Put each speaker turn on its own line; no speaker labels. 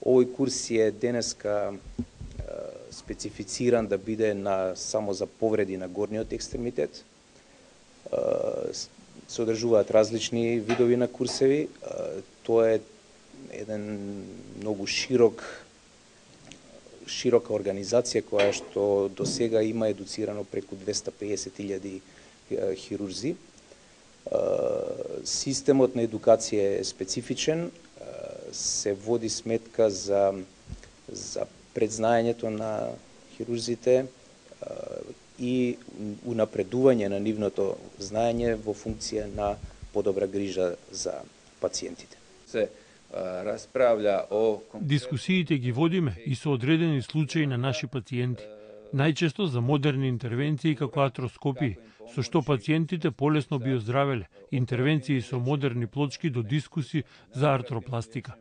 Овој курс е денеска специфициран да биде само за повреди на горниот екстремитет. Се одржуваат различни видови на курсеви. Тоа е еден многу широка организација која што до сега има едуцирано преку 250.000 хирурзи. Системот на едукација е специфичен, се води сметка за предзнаењето на хирурзите и унапредување на нивното знаење во функција на подобра грижа за пациентите.
Се расправља о
Дискусиите ги водиме и со одредени случаи на наши пациенти, најчесто за модерни интервенции како артроскопии, со што пациентите полесно би оздравеле, интервенции со модерни плочки до дискуси за артропластика.